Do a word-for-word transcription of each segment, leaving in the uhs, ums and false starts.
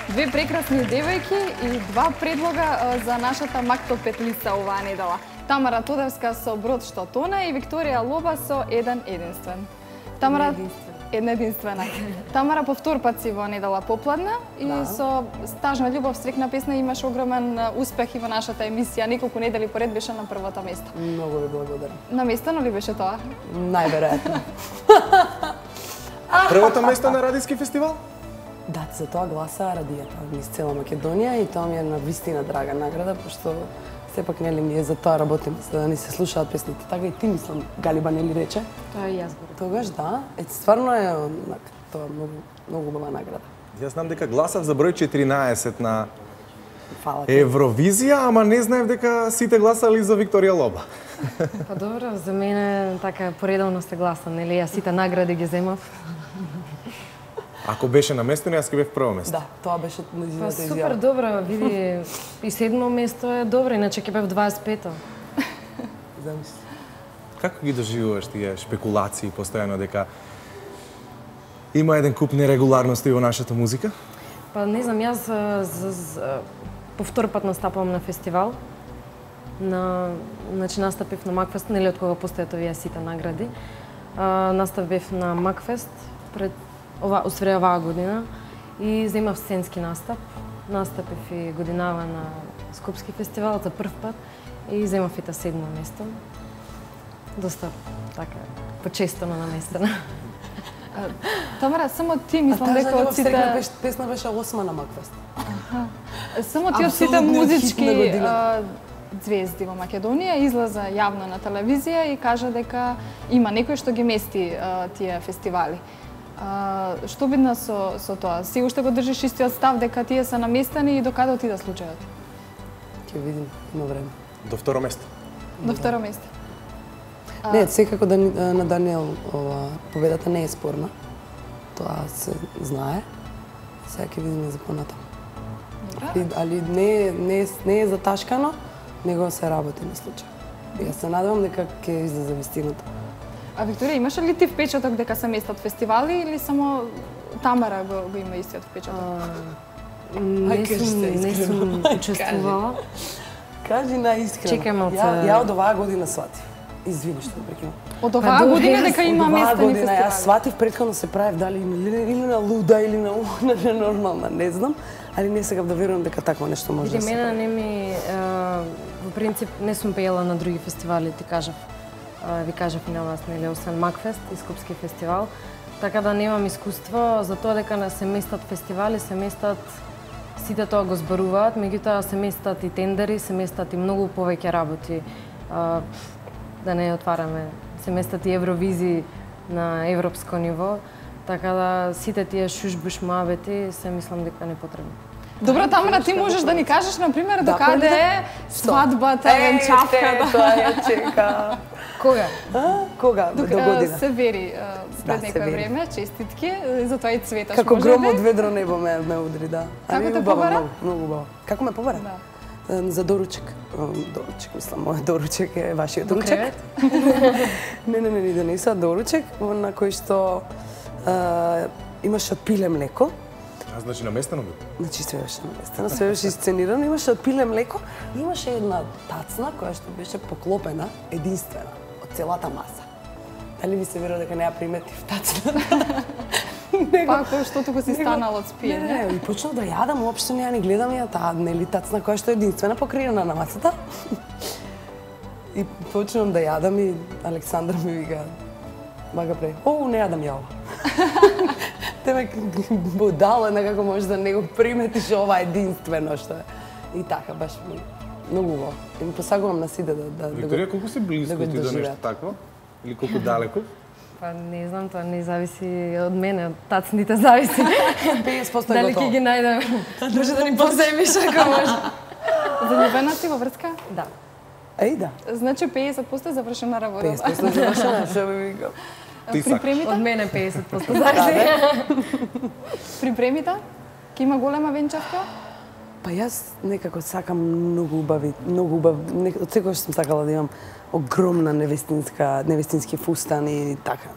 Две прекрасни девојки и два предлога за нашата Мактоп петлица оваа недела. Тамара Тодевска со Брод што тоне и Викторија Лоба со Еден единствен. Тамара една единствена. Тамара по втор пат си во недела попладна и да. Со Стажна љубов стрекна песна имаш огромен успех и во нашата емисија. Неколку недели поред беше на првото место. Многу ви благодарам. Наместено ли беше тоа? Најверојатно. Првото место на радиски фестивал? Да, за тоа гласа радијата низ цела Македонија и тоа ми е на вистина драга награда, пошто сепак нели ние за тоа работиме, за да ни се слушаат песните. Така и ти мислам, Галиба нели рече? Тоа и јас го. Тогаш да, е стварно е тоа многу многу убава награда. Јас знам дека гласав за број четиринаесет на Фала ти. Евровизија, ама не знаев дека сите гласали за Викторија Лоба. Па добро, за мене така поредовно се гласа, нели јас сите награди ги земав. Ако беше наместено, јас ќе бев прво место. Да, тоа беше нејзината изјава. изјава. Супер добро, види, и седмо место е добро, иначе ќе бев дваесет и пето. Замисли. Како ги доживуваш тие шпекулации постојано дека има еден куп нерегуларности во нашата музика? Па не знам, јас за, за, за, по втор пат настапувам на фестивал. На, значи настапив на Макфест, нели од кога постојат овие сите награди. А, настапив на Макфест пред ова усвре оваа година и земав сценски настап. Настапив и годинава на Скопски фестивал за прв пат и земав и та седмо место. Доста така почестено наместена. Тамара, само ти мислам дека од сите песна беше осма на Макфест. Само ти од сите музички звезди во Македонија излеза јавно на телевизија и кажа дека има некој што ги мести тие фестивали. А, што бидна со, со тоа? Си уште го држиш истиот став дека тие се наместени и до каде отида случајот? Ќе видим, има време. До второ место. До второ место. А... Не, секако да, на Даниел ова, победата не е спорна. Тоа се знае. Сега ќе видиме за понатаму. Али, али не, не, не е заташкано, него се работи на случај. Јас се надевам дека ќе излезе вистината. А Викторија, имаш ли ти впечаток дека се местат фестивали или само Тамара го, го има истиот впечаток? А, не сум, не сум учествувала. Кажи наискрено. Чекај малце. Ја, ја од оваа година сватив. Извини што прекинам. Од оваа па, година дека има местени фестивали? Јас сватив предходно се правев дали или на луда или на на ненормална, не знам, али не сакав да верувам дека такво нешто може да се прави. Мене не ми во принцип не сум пеела на други фестивали, ти кажав. Ви кажав и на вас, нели, освен Макфест и Скопски фестивал, така да немам искуство за тоа дека не се местат фестивали, се местат сите тоа го зборуваат, меѓутоа се местат и тендери, се местат и многу повеќе работи. А, да не отвараме, се местат и Евровизии на европско ниво, така да сите тие шушбуш муабети се мислам дека не потребни. Добро, Тамара, ти можеш да ни кажеш, например, до каде е свадбата, венчавката? Тоа ја чека. Кога? Кога? До година. Се вери пред некој време, честитки, затоа и цветаш. Како гром од ведро небо ме ме удри, да. Како те побара? Многу убаво. Како ме побара? За доручек. Доручек, мислам, мојот доручек е вашиот доручек. Не, не, не, не донеса доручек на кој што имаше од пиле млеко. А значи наместено бе? Значи све беше наместено, све бешеисценирано, имаше од пиле млеко, имаше една тацна која што беше поклопена, единствена, од целата маса. Дали ви се верува дека не ја приметив тацната? Па, кој што тука си станал од спиење? Не, не, и почнав да јадам, уопште не ја не гледам ја таа, нели, тацна која што е единствена покриена на масата. И почнав да јадам и Александар ми вика, бага пре, о, не јадам ја ова. Те ме будала на како можеш да не го приметиш ова единствено што е. И така, баш многу убаво. И ми посагувам на сите да да Викторија, колку си близко ти до нешто такво? Или колку далеко? Па не знам, тоа не зависи од мене, од тацните зависи. петдесет проценти Дали ќе ги најдем? Може да ни поземиш ако може. Заљубена си во врска? Да. Еј, да. Значи петдесет проценти завршена работа. петдесет проценти завршена, што би викам. Припремите? Од мене петдесет проценти зависи. Припремите? Ке има голема венчавка? Па јас некако сакам многу убави, многу убав, од секогаш сум сакала да имам огромна невестинска, невестински фустан и така.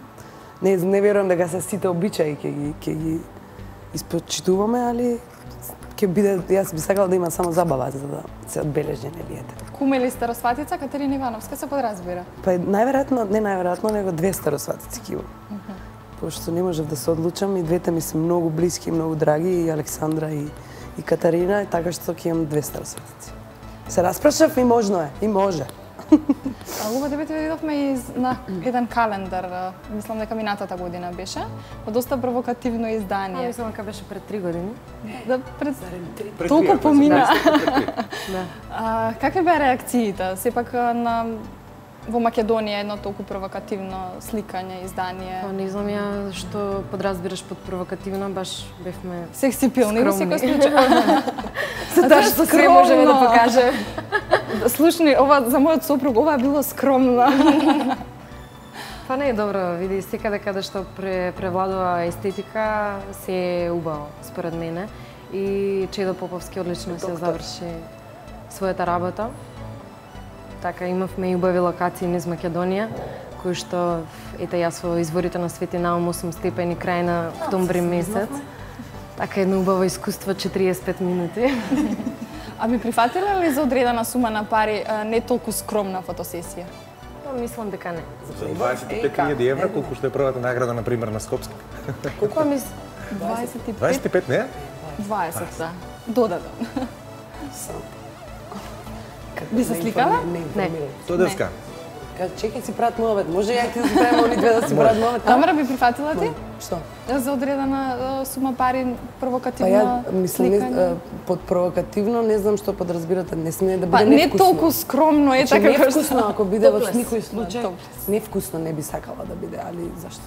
Не, не верувам дека се сите обичаи ќе ги ќе ги испочитуваме, али ќе биде, јас би сакала да има само забава за да се одбележи, нели ете. Куме или старосватица, Катерина Ивановска се подразбира? Па најверојатно, не најверојатно, него две старосватици ќе имам. Пошто не можев да се одлучам и двете ми се многу блиски, многу драги, и Александра и, и Катарина, и така што ќе имам две старосватици. Се распрашав и можно е, и може. А, Луба, тебе те видовме и на еден календар, мислам дека минатата година беше, во доста провокативно А, издание. мислам дека беше пред три години. Да, пред... Пред Толку три, помина. Да. А, какви беа реакциите? Сепак на во Македонија едно толку провокативно сликање, издание. Па не знам ја што подразбираш под провокативно, баш бевме Секси пилни во секој скромни. случај. Затоа што све можеме да покажем. Слушни, ова за мојот сопруг ова било скромно. Па не е добро, види, секаде каде што пре, превладува естетика, се е убаво, според мене. И Чедо Поповски одлично се заврши својата работа. Така, имавме и убави локации низ Македонија, кои што, ете јас во изворите на Свети Наум осум степени крај на октомври месец. Така, едно убаво искуство, четириесет и пет минути. А би прифатиле ли за одредена сума на пари а, не толку скромна фотосесија? Па, мислам дека не. За дваесет и пет илјади евра, колку што е првата награда, например, на Скопски? Па, мис... дваесет и пет, дваесет и пет, не? дваесет, да. Додаден. Сам. Би се сликала? Не. Тоа деска. Кажа, чекај си прават муавет. Може ја и ти да си правиме они две да си прават муавет? Тамара би прифатила ти? Што? За одредена а, сума пари Па провокативно ја мислам, не, сликање? а, под провокативно не знам што подразбирате, не сме да биде Па не невкусно. толку скромно е Значи, така како невкусно, што... ако биде во Топлес. никој случај, Топлес. невкусно не би сакала да биде, али зашто?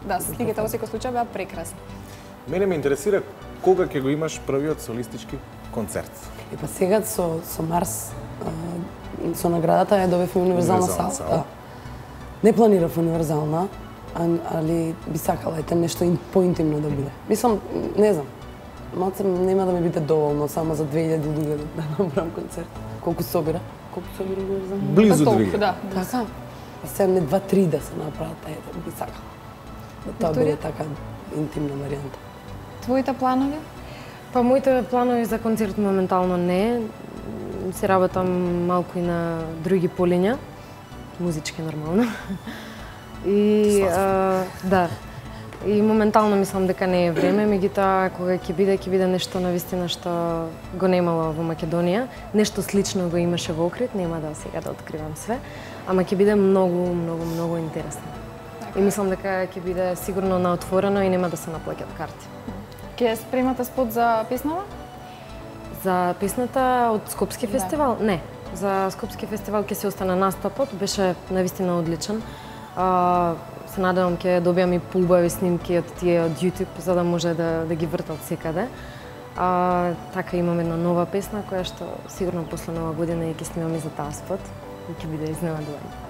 Да, сликите во секој случај беа прекрасни. Мене ме интересира кога ќе го имаш првиот солистички концерт. И па сега со, со Марс, а, со наградата ја добивме универзална Универзална сала. сала. Да. Не планирав универзална, а- али би сакала ете нешто ин, поинтимно да биде. Мислам, не знам, малце нема да ми биде доволно само за две илјади луѓе да направам концерт. Колку собира? Колку собира универзална? Близу Па толку, две. да. Така? Па сега не два-три да се направат, па ете, би сакала. Да тоа Викторија? биде така интимна варијанта. Твоите планови? Па моите планови за концерт моментално не. Се работам малку и на други полиња, музички нормално. И а, да. И моментално мислам дека не е време, меѓутоа кога ќе биде, ќе биде нешто навистина што го немало во Македонија. Нешто слично го имаше во Охрид, нема да сега да откривам све, ама ќе биде многу, многу, многу интересно. И мислам дека ќе биде сигурно на отворено и нема да се наплаќат карти. Ке спремате спот за песнава? За песната од Скопски фестивал? Не. За Скопски фестивал ќе се остане настапот, беше навистина одличен. А, се надевам ќе добиам и поубави снимки од тие од YouTube за да може да да ги вртат секаде. А, така имам една нова песна која што сигурно после нова година ќе снимам и за таа спот и ќе биде изненадување.